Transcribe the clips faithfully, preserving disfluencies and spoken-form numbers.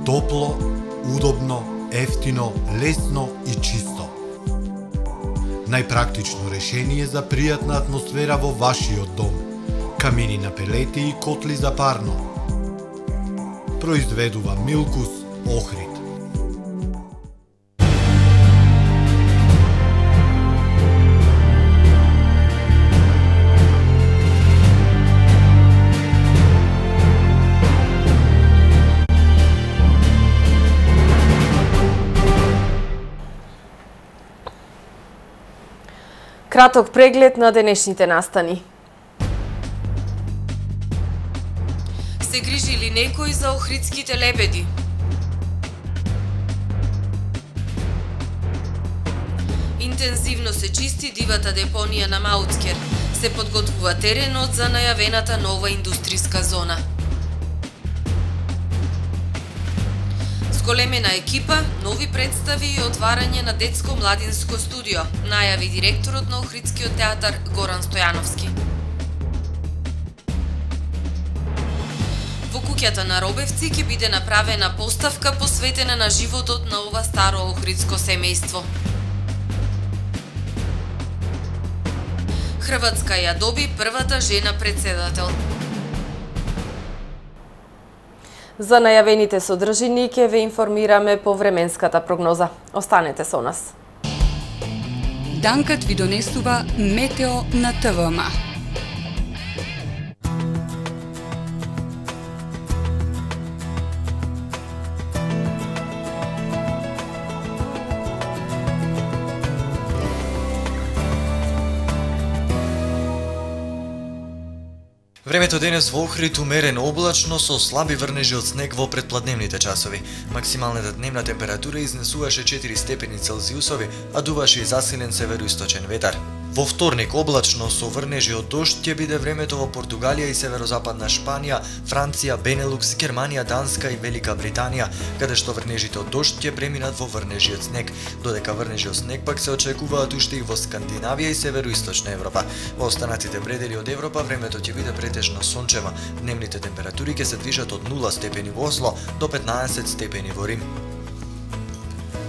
Топло, удобно, ефтино, лесно и чисто. Најпрактично решение за пријатна атмосфера во вашиот дом. Камини на пелети и котли за парно. Произведува Милкус Охрид. Краток преглед на денешните настани. Се грижи ли некој за охридските лебеди? Интензивно се чисти дивата депонија на Маутскер. Се подготвува теренот за најавената нова индустријска зона. Зголемена екипа, нови представи и отварање на детско-младинско студио, најави директорот на Охридскиот театар Горан Стојановски. Во куќата на Робевци ќе биде направена поставка посветена на животот на ова старо охридско семејство. Хрватска ја доби првата жена председател. За најавените содржини ќе ве информираме по временската прогноза. Останете со нас. Данкат ви донесува Метео на ТВМ. Времето денес во Охрид умерено облачно со слаби врнежи од снег во предпладневните часови. Максималната дневна температура изнесуваше четири степени Целзиусови, а дуваше и засилен североисточен ветар. Во вторник облачно со врнежи од дожд ќе биде времето во Португалија и северозападна Шпанија, Франција, Бенелукс, Германија, Данска и Велика Британија, каде што врнежите од дожд ќе преминат во врнежи од снег, додека врнежи од снег пак се очекуваат уште и во Скандинавија и североисточна Европа. Во останатите предели од Европа времето ќе биде претежно сончево. Дневните температури ќе се движат од нула степени во Осло до петнаесет степени во Рим.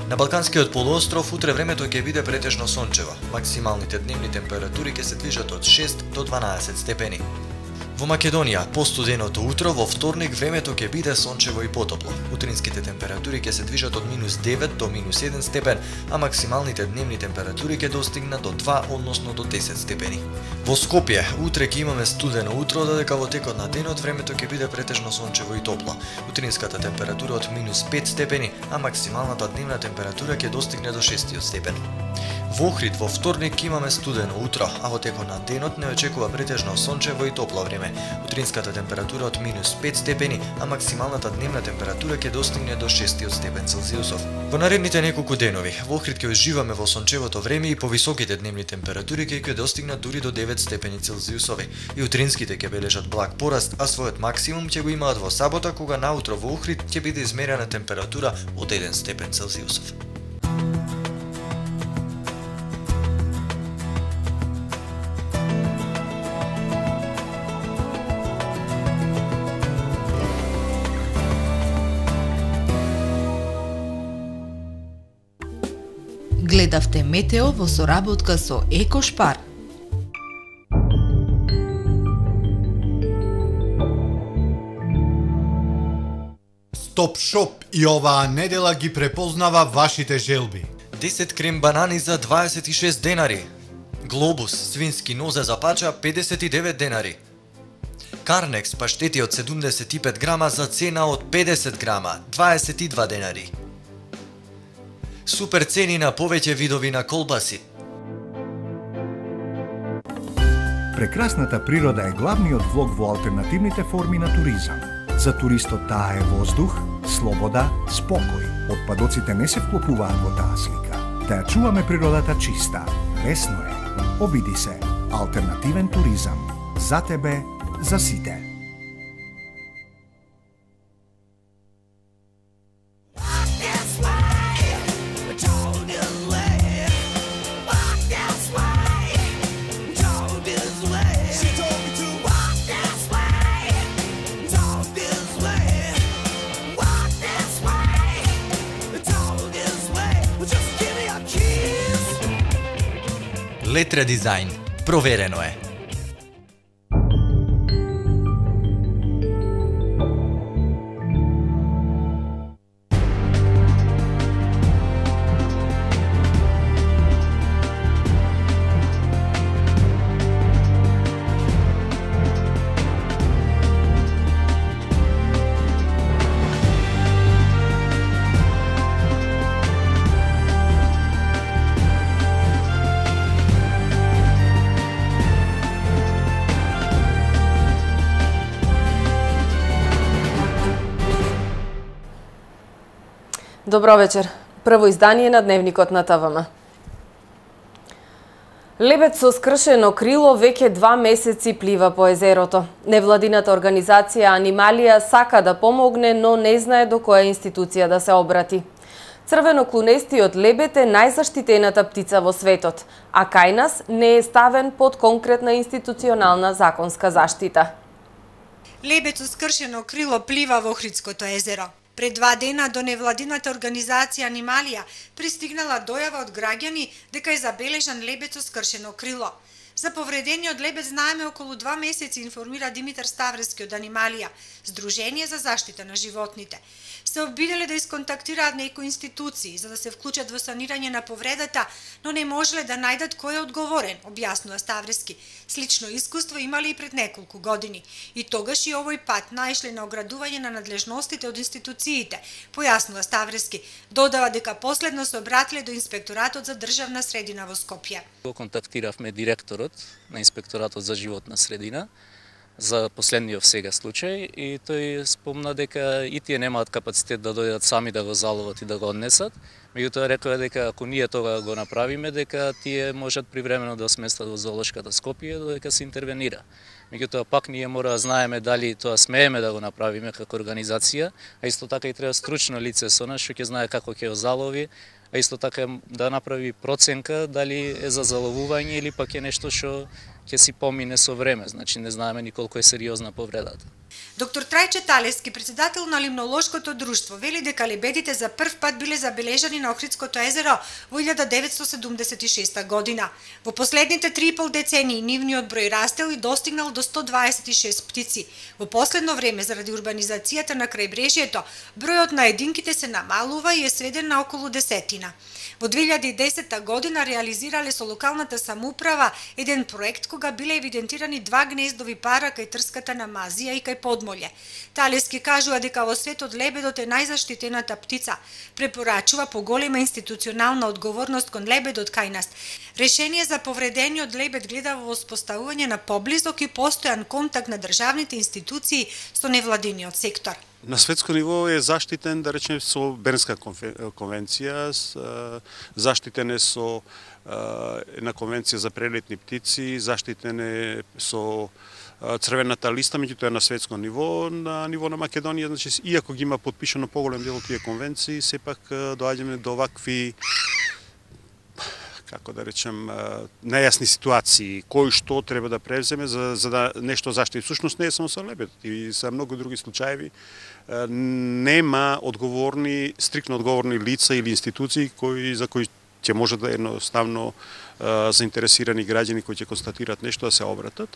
На Балканскиот полуостров утре времето ќе биде претежно сончево. Максималните дневни температури ќе се движат од шест до дванаесет степени. Во Македонија, постуденото утро во вторник времето ќе биде сончево и потопло. Утринските температури ќе се движат од минус девет до минус еден степен, а максималните дневни температури ќе достигнат до два, односно до десет степени. Во Скопје, утре ќе имаме студено утро, додека во текот на денот времето ќе биде претежно сончево и топло. Утринската температура од минус пет степени, а максималната дневна температура ќе достигне до шест степени. Во Охрид во вторник ќе имаме студено утро, а во текот на денот не очекува претежно сончево и топло време. Утринската температура од минус пет степени, а максималната дневна температура ќе достигне до шест степен Целзиусов. Во наредните неколку денови, во Охрид ќе уживаме во сончевото време и повисоките дневни температури ќе ќе достигнат дури до девет степени Целзиусови. И утринските ќе бележат благ пораст, а својот максимум ќе го имаат во сабота, кога наутро во Охрид ќе биде измерена температура од еден степен Целзиусов. Гледавте Метео во соработка со Екошпар. Стоп Шоп и оваа недела ги препознава вашите желби. десет крем банани за дваесет и шест денари. Глобус свински нозе за пача педесет и девет денари. Карнекс паштети од седумдесет и пет грама за цена од педесет грама, дваесет и два денари. Супер цени на повеќе видови на колбаси. Прекрасната природа е главниот влог во алтернативните форми на туризам. За туристот таа е воздух, слобода, спокој. Отпадоците не се вклопуваат во таа слика. Да ја чуваме природата чиста. Лесно е. Обиди се. Алтернативен туризам. За тебе, за сите. Walk this way. Летра дизајн. Проверено е. Добро вечер. Прво издание на Дневникот на ТВМ. Лебед со скршено крило веќе два месеци плива по езерото. Невладината организација Анималија сака да помогне, но не знае до која институција да се обрати. Црвеноклунестиот лебед е најзаштитената птица во светот, а кај нас не е ставен под конкретна институционална законска заштита. Лебед со скршено крило плива во Охридското езеро. Пред два дена до невладината организација Анималија пристигнала дојава од граѓани дека е забележан лебед со скршено крило. За повредениот лебед знаеме околу два месеци, информира Димитар Ставрески од Анималија, Сдружение за заштита на животните. Се обиделе да исконтактираат некои институции за да се вклучат во санирање на повредата, но не можеле да најдат кој е одговорен, објаснува Ставрески. Слично искуство имале и пред неколку години. И тогаш и овој пат наишле на оградување на надлежностите од институциите, појаснува Ставрески. Додава дека последно се обратиле до Инспекторатот за државна средина во Скопје. Го контактиравме директорот на Инспекторатот за животна средина за последниот сега случај и тој спомна дека и тие немаат капацитет да дојдат сами да го заловат и да го однесат. Меѓутоа рекоа дека ако ние тоа го направиме, дека тие можат привремено да сместат во зоолошката Скопје додека се интервенира. Меѓутоа пак ние мора да знаеме дали тоа смееме да го направиме како организација, а исто така и треба стручно лице со нас што ќе знае како ќе го залови, а исто така да направи проценка дали е за заловување или пак е нешто што ќе си помине со време, значи не знаеме ни колку е сериозна повредата. Доктор Трајче Талески, председател на Limnološкото друштво, вели дека лебедите за прв пат биле забележани на Охридското езеро во илјада деветстотини седумдесет и шеста година. Во последните три и пол децении нивниот број растел и достигнал до сто дваесет и шест птици. Во последно време, заради урбанизацијата на крајбрежјето, бројот на единките се намалува и е сведен на околу десетина. Во две илјади и десета година реализирале со локалната самоуправа еден проект кога биле евидентирани два гнездови пара кај трската на Мазија и кај Подмолје. Талески кажува дека во светот лебедот е најзаштитената птица. Препорачува поголема институционална одговорност кон лебедот кај нас. Решение за повредениот лебед гледа во воспоставување на поблизок и постојан контакт на државните институции со невладиниот сектор. На светско ниво е заштитен, да речеме, со Бернска конвенција, заштитен е со една конвенција за прелетни птици, заштитен е со црвената листа, меѓутоа на светско ниво, на ниво на Македонија, значи иако ги има потпишано поголем дел од тие конвенции, сепак доаѓаме до вакви, како да речем, нејасни ситуации, кој што треба да превземе за, за да нешто заштити. Всушност не е само со лебедот, и за многу други случаеви нема одговорни, стрикно одговорни лица или институции кои за кои ќе може да едноставно заинтересирани граѓани кои ќе констатираат нешто да се обратат.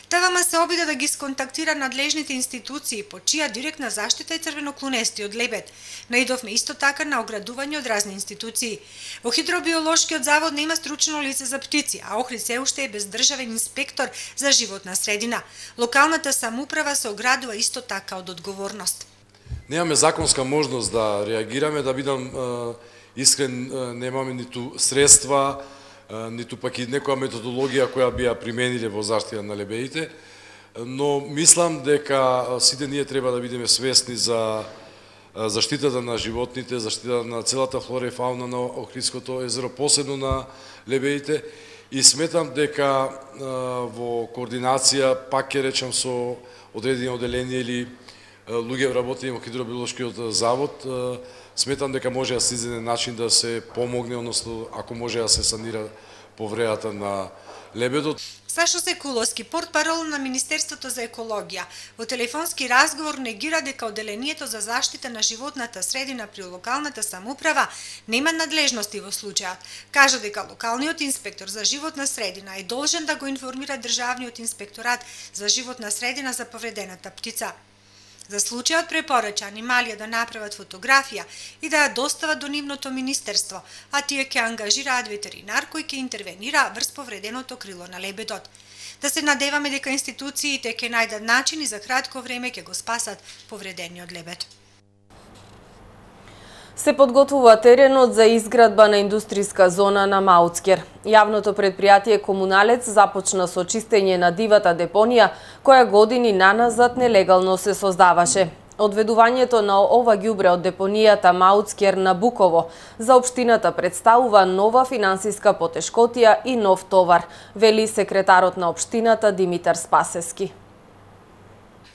ТВМ се обиде да ги сконтактира надлежните институции по чија директна заштита е црвеноклунестиот лебед. Наидовме исто така на оградување од разни институции. Во Хидробиолошкиот завод нема стручно лице за птици, а Охрид се уште е без државен инспектор за животна средина. Локалната самоуправа се оградува исто така од одговорност. Немаме законска можност да реагираме, да бидам искрен, немаме ниту средства, ниту пак и некоја методологија која би ја примениле во заштита на лебедите, но мислам дека сите ние треба да бидеме свесни за заштитата на животните, заштитата на целата флора и фауна на Охридското езеро, посебно на лебедите, и сметам дека во координација, пак ќе речам со одредени одделенија или луѓе работени во Хидробиолошкиот завод, сметам дека може да се изнајде начин да се помогне, односно ако може да се санира повредата на лебедот. Сашо Секуловски, портпарол на Министерството за екологија, во телефонски разговор негира дека Оделението за заштита на животната средина при локалната самоуправа нема надлежности во случајот. Кажа дека локалниот инспектор за животна средина е должен да го информира Државниот инспекторат за животна средина за повредената птица. За случајот препорача анималија да направат фотографија и да ја достават до нивното министерство, а тие ќе ангажираат ветеринар кој ќе интервенира врз повреденото крило на лебедот. Да се надеваме дека институциите ќе најдат начини за кратко време ќе го спасат повредениот лебед. Се подготвува теренот за изградба на индустријска зона на Маутскер. Јавното предпријатие Комуналец започна со чистење на дивата депонија, која години наназад нелегално се создаваше. Одведувањето на ова ѓубре од депонијата Маутскер на Буково за општината представува нова финансиска потешкотија и нов товар, вели секретарот на општината Димитар Спасески.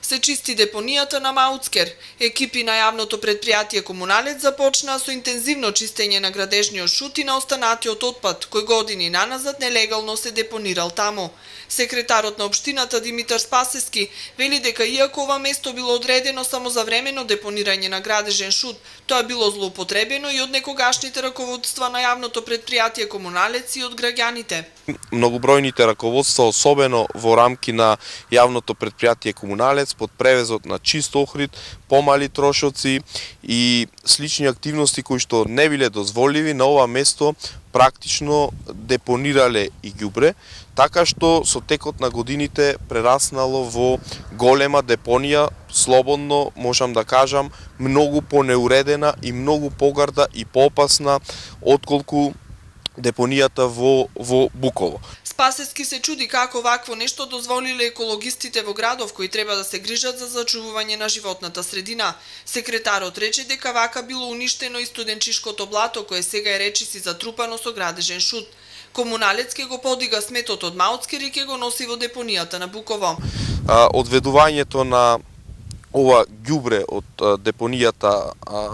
Се чисти депонијата на Маутскер. Екипи на јавното предпријатие Комуналец започнаа со интензивно чистење на градежниот шут и на останатиот отпад, кој години наназад нелегално се депонирал таму. Секретарот на општината Димитар Спасески вели дека иако ова место било одредено само за времено депонирање на градежен шут, тоа било злоупотребено и од некогашните раководства на јавното предпријатие Комуналец и од граѓаните. Многобројните раководства, особено во рамки на јавното предпријатие Комуналец, под превезот на чист охрид, помали трошоци и слични активности кои што не биле дозволиви, на ова место практично депонирале и ѓубре, така што со текот на годините прераснало во голема депонија, слободно можам да кажам, многу понеуредена и многу погарда и поопасна отколку депонијата во, во Буково. Спасески се чуди како вакво нешто дозволиле екологистите во градов кои треба да се грижат за зачувување на животната средина. Секретарот рече дека вака било уништено и студенчишкото блато кое сега е речиси затрупано со градежен шут. Комуналец ке го подига сметот од Маутскер и ке го носи во депонијата на Буково. А, одведувањето на ова ѓубре од депонијата а,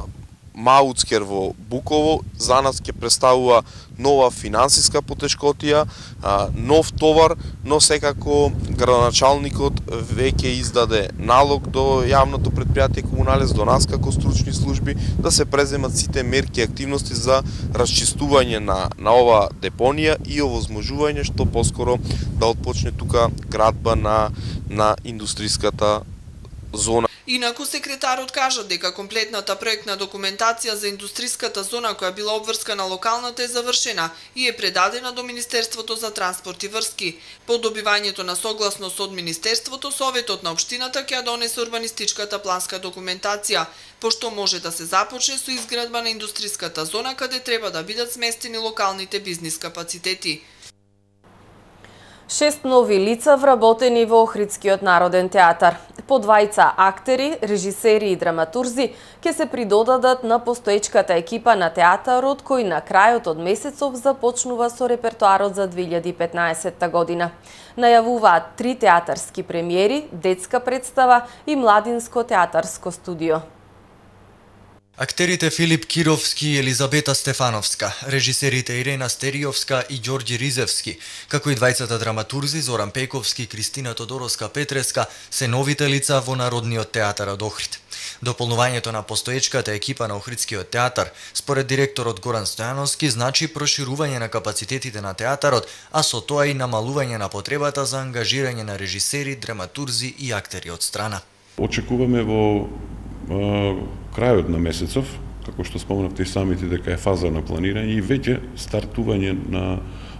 Маутскер во Буково за нас ќе представува нова финансиска потешкотија, нов товар, но секако градоначалникот веќе издаде налог до јавното предпријатие Комуналец, до нас како стручни служби, да се преземат сите мерки и активности за расчистување на, на ова депонија и овозможување што поскоро да отпочне тука градба на, на индустријската зона. Инаку секретарот кажа дека комплетната проектна документација за индустријската зона која била обврскана локалната е завршена и е предадена до Министерството за транспорт и врски. По добивањето на согласност од Министерството, Советот на општината ќе ја донесе урбанистичката планска документација, пошто може да се започне со изградба на индустријската зона каде треба да бидат сместени локалните бизнис капацитети. Шест нови лица вработени во Охридскиот народен театар. По двајца актери, режисери и драматурзи ќе се придодадат на постоечката екипа на театарот кој на крајот од месецов започнува со репертоарот за две илјади и петнаесетта година. Најавуваат три театарски премиери, детска представа и младинско театарско студио. Актерите Филип Кировски и Елизабета Стефановска, режисерите Ирена Стериовска и Ѓорѓи Ризевски, како и двајцата драматурзи Зоран Пековски и Кристина Тодоровска Петреска се новите лица во Народниот театар од Охрид. Дополнувањето на постоечката екипа на Охридскиот театар, според директорот Горан Стојановски, значи проширување на капацитетите на театарот, а со тоа и намалување на потребата за ангажирање на режисери, драматурзи и актери од страна. Очекуваме во крајот на месецов, како што спомнавте и самите дека е фаза на планирање и веќе стартување на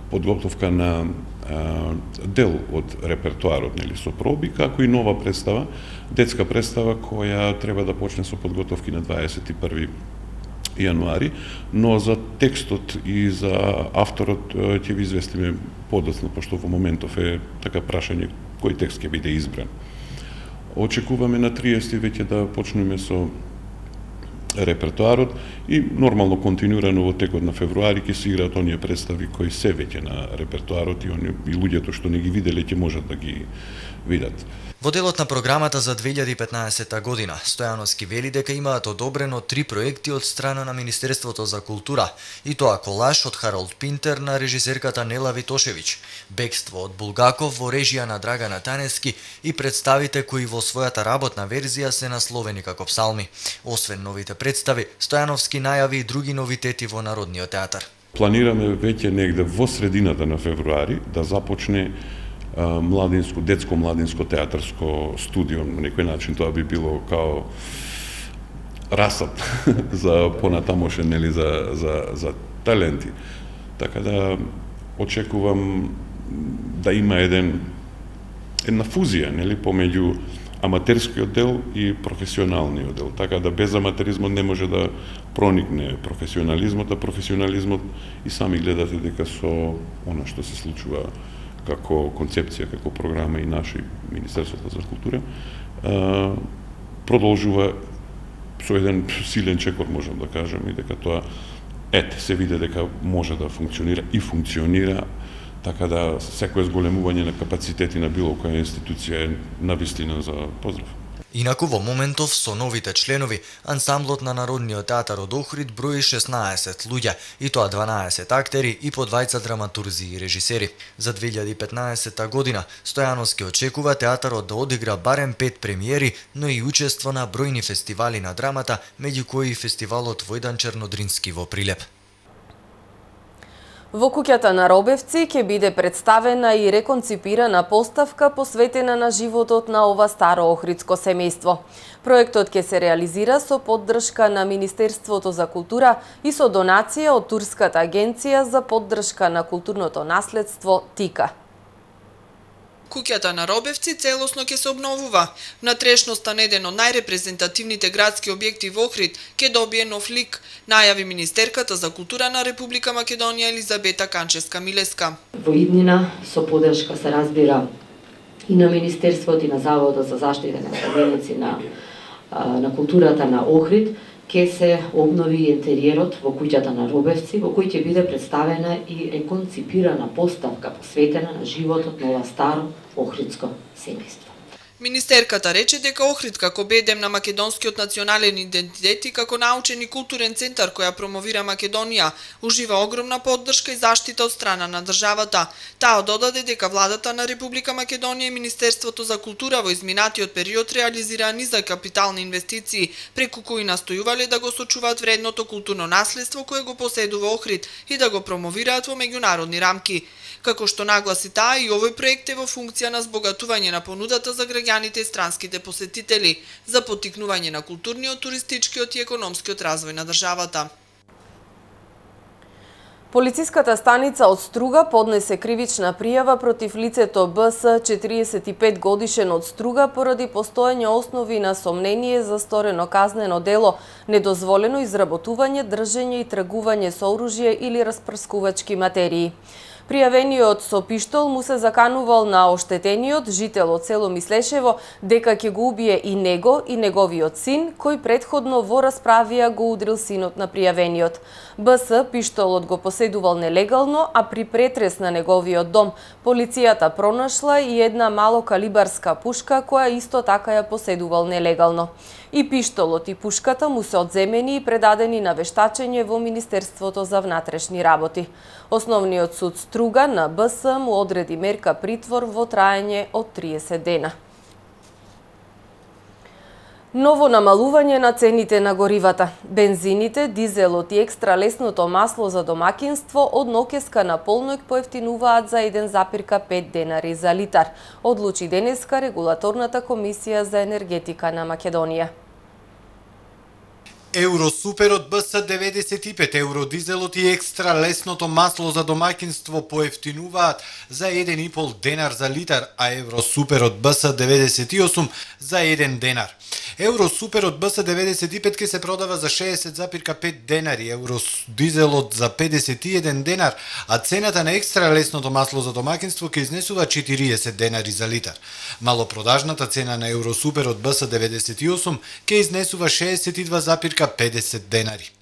подготовка на а, дел од репертоарот, нели, со проби, како и нова представа, детска представа која треба да почне со подготовки на дваесет и први јануари, но за текстот и за авторот ќе ви известиме подоцна, пошто во моментов е така прашање кој текст ќе биде избран. Очекуваме на триесети веќе да почнеме со репертоарот и нормално континуирано во текот на февруари ќе се играат оние представи кои се веќе на репертоарот и оние и луѓето што не ги виделе ќе можат да ги видат. Во делот на програмата за две илјади и петнаесетта година, Стојановски вели дека имаат одобрено три проекти од страна на Министерството за култура, и тоа колаж од Харолд Пинтер на режисерката Нела Витошевиќ, Бегство од Булгаков во режија на Драгана Танески и представите кои во својата работна верзија се насловени како псалми. Освен новите представи, Стојановски најави и други новитети во Народниот театар. Планираме веќе негде во средината на февруари да започне младинско, детско младинско театарско студио. На некој начин тоа би било као расад за понатамошен, нели, за, за, за таленти. Така да очекувам да има еден една фузија, нели, помеѓу аматерскиот дел и професионалниот дел. Така да без аматеризмот не може да проникне професионализмот, а професионализмот и сами гледате дека со она што се случува како концепција, како програма и наше Министерството за култура, продолжува со еден силен чекор, можам да кажем, и дека тоа, ете, се види дека може да функционира и функционира, така да секој зголемување на капацитети на било која институција е навистина за поздрав. Инаку во моментов со новите членови, ансамблот на Народниот театар од Охрид брои шеснаесет луѓе, и тоа дванаесет актери и по двајца драматурзи и режисери. За две илјади и петнаесетта година Стојановски очекува театарот да одигра барем пет премиери, но и учество на бројни фестивали на драмата, меѓу кои и фестивалот Војдан Чернодрински во Прилеп. Во куќата на Робевци ќе биде представена и реконципирана поставка посветена на животот на ова старо охридско семејство. Проектот ќе се реализира со поддршка на Министерството за култура и со донација од Турската агенција за поддршка на културното наследство ТИКА. Куќата на Робевци целосно ќе се обновува. Внатрешноста на еден од најрепрезентативните градски објекти во Охрид ќе добие нов лик, најави Министерката за култура на Република Македонија Елизабета Канчевска-Милеска. Во иднина со поддршка се разбира и на Министерството и на Заводот за заштита на споменици на на културата на Охрид ќе се обнови интериерот во куќата на Робевци, во кој ќе биде представена и реконципирана поставка посветена на животот на ова старо охридско семејство. Министерката рече дека Охрид како бедем на македонскиот национален идентитет и како научен и културен центар која промовира Македонија, ужива огромна поддршка и заштита од страна на државата. Таа додаде дека владата на Република Македонија и Министерството за култура во изминатиот период реализираа низа капитални инвестиции, преку кои настојувале да го сочуваат вредното културно наследство кое го поседува Охрид и да го промовираат во меѓународни рамки. Како што нагласи таа, и овој проект е во функција на збогатување на понудата за граѓаните и странските посетители, за поттикнување на културниот, туристичкиот и економскиот развој на државата. Полициската станица од Струга поднесе кривична пријава против лицето Б С, четириесет и пет годишен од Струга, поради постоење основи на сомнение за сторено казнено дело, недозволено изработување, држење и тргување со оружје или распрскувачки материи. Пријавениот со пиштол му се заканувал на оштетениот жител од село Мислешево дека ќе го убие и него и неговиот син, кој претходно во расправија го удрил синот на пријавениот. Б С пиштолот го поседувал нелегално, а при претрес на неговиот дом полицијата пронашла и една малокалибарска пушка која исто така ја поседувал нелегално. И пиштолот и пушката му се одземени и предадени на вештачење во Министерството за внатрешни работи. Основниот суд Струга на Б С му одреди мерка притвор во траење од триесет дена. Ново намалување на цените на горивата. Бензините, дизелот и екстра лесното масло за домакинство од нокеска на полноќ поевтинуваат за еден запир пет денари за литар, одлучи денеска Регулаторната комисија за енергетика на Македонија. Евросуперот Б С деветдесет и пет, евродизелот и екстра лесното масло за домакинство поевтинуваат за еден и пол денар за литар, а Евросуперот Б С деветдесет и осум за еден денар. Евросуперот Б С деветдесет и пет ке се продава за шеесет запир пет денари, евродизелот за педесет и еден денар, а цената на екстра лесното масло за домакинство ке изнесува четириесет денари за литар. Малопродажната цена на Евросуперот Б С деветдесет и осум ке изнесува шеесет и два запир педесет денари.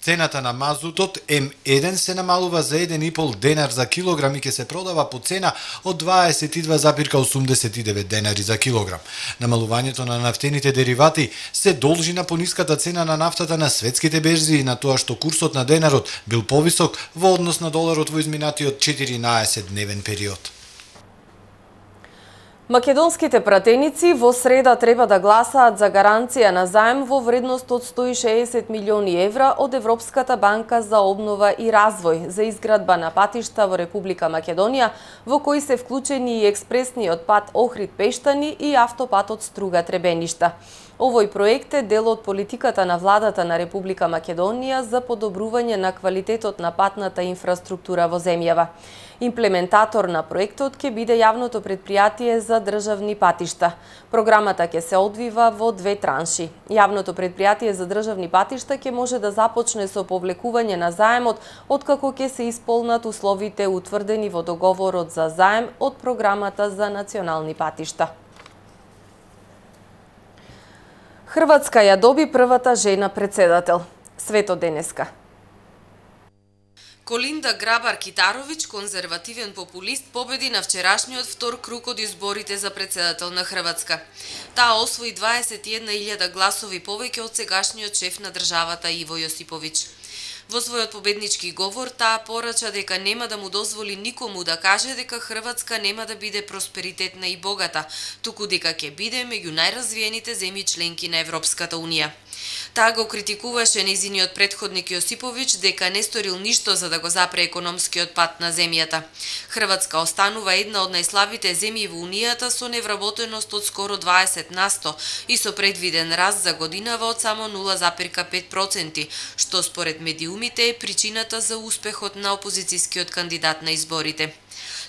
Цената на мазутот М еден се намалува за еден и пол денар за килограм и ќе се продава по цена од дваесет и два зарем осумдесет и девет денари за килограм. Намалувањето на нафтените деривати се должи на пониската цена на нафтата на светските берзи и на тоа што курсот на денарот бил повисок во однос на доларот во изминатиот четиринаесет дневен период. Македонските пратеници во среда треба да гласаат за гаранција на заем во вредност од сто и шеесет милиони евра од Европската банка за обнова и развој за изградба на патишта во Република Македонија, во кои се вклучени и експресниот пат Охрид-Пештани и автопатот Струга-Требеништа. Овој проект е дел од политиката на владата на Република Македонија за подобрување на квалитетот на патната инфраструктура во земјава. Имплементатор на проектот ќе биде јавното претпријатие за државни патишта. Програмата ќе се одвива во две транши. Јавното претпријатие за државни патишта ќе може да започне со повлекување на заемот откако ќе се исполнат условите утврдени во договорот за заем од програмата за национални патишта. Хрватска ја доби првата жена председател. Свето денеска. Колинда Грабар-Китаровиќ, конзервативен популист, победи на вчерашниот втор круг од изборите за председател на Хрватска. Таа освои дваесет и една илјада гласови повеќе од сегашниот шеф на државата Иво Јосиповиќ. Во својот победнички говор, таа порача дека нема да му дозволи никому да каже дека Хрватска нема да биде просперитетна и богата, туку дека ќе биде меѓу најразвиените земји членки на Европската Унија. Таа го критикуваше нејзиниот претходник Јосиповиќ дека не сторил ништо за да го запре економскиот пат на земјата. Хрватска останува една од најслабите земји во Унијата со невработеност од скоро дваесет на сто и со предвиден раст за годинава од само нула зарем пет проценти, што според медиумите е причината за успехот на опозицијскиот кандидат на изборите.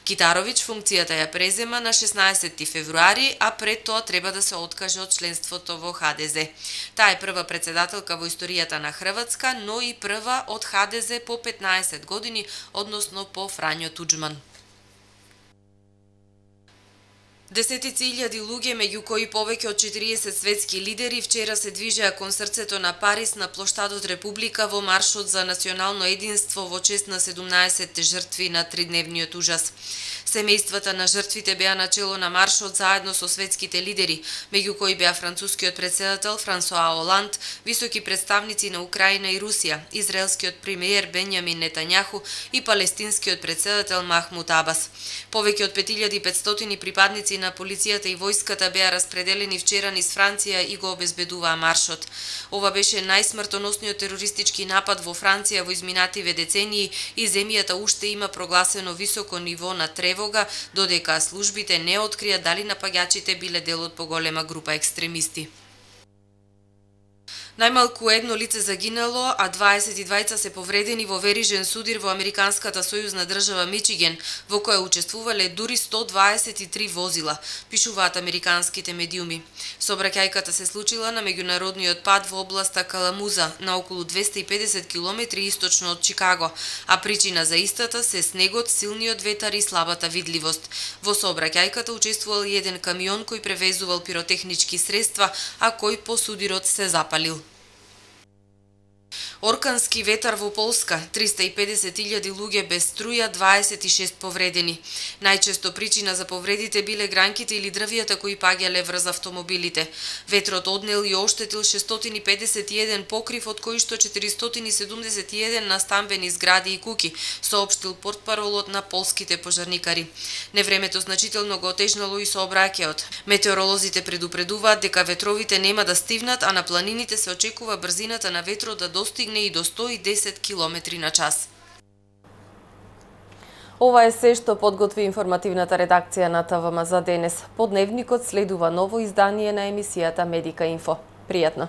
Китаровиќ функцијата ја презема на шеснаесети февруари, а пред тоа треба да се откаже од членството во Ха Де Зе. Таа е прва председателка во историјата на Хрватска, но и прва од Ха Де Зе по петнаесет години, односно по Фрањо Туџман. Десетици илјади луѓе, меѓу кои повеќе од четириесет светски лидери, вчера се движеа кон срцето на Париз на плоштадот Република во маршот за национално единство во чест на седумнаесетте жртви на тридневниот ужас. Семејствата на жртвите беа начело на маршот заедно со светските лидери, меѓу кои беа францускиот председател Франсоа Оланд, високи представници на Украина и Русија, израелскиот премиер Бенјамин Нетањаху и палестинскиот председател Махмуд Абас. Повеќе од пет илјади и петстотини припадници на полицијата и војската беа распределени вчера низ Франција и го обезбедуваа маршот. Ова беше најсмртоносниот терористички напад во Франција во изминативе децении и земјата уште има прогласено високо ниво на тревога, додека службите не открија дали напаѓачите биле дел од поголема група екстремисти. Најмалку едно лице загинало, а дваесет и двајца се повредени во верижен судир во американската сојузна држава Мичиген, во која учествувале дури сто дваесет и три возила, пишуваат американските медиуми. Сообраќајката се случила на меѓународниот пат во областа Каламуза, на околу двесте и педесет километри источно од Чикаго, а причина за истата се снегот, силниот ветар и слабата видливост. Во сообраќајката учествувал и еден камион кој превезувал пиротехнички средства, а кој по судирот се запалил. Оркански ветар во Полска, триста и педесет илјади луѓе без струја, дваесет и шест повредени. Најчесто причина за повредите биле гранките или дрвијата кои паѓале врз автомобилите. Ветрот однел и оштетил шестстотини и педесет и еден покрив, од кои што четиристотини и седумдесет и еден на стамбени згради и куки, соопштил портпаролот на полските пожарникари. Невремето значително го отежнало и сообраќајот. Метеоролозите предупредуваат дека ветровите нема да стивнат, а на планините се очекува брзината на ветрот да достигне и до сто и десет километри на час. Ова е се што подготви информативната редакција на ТВМ за денес. По дневникот следува ново издание на емисијата Медика Инфо. Пријатно!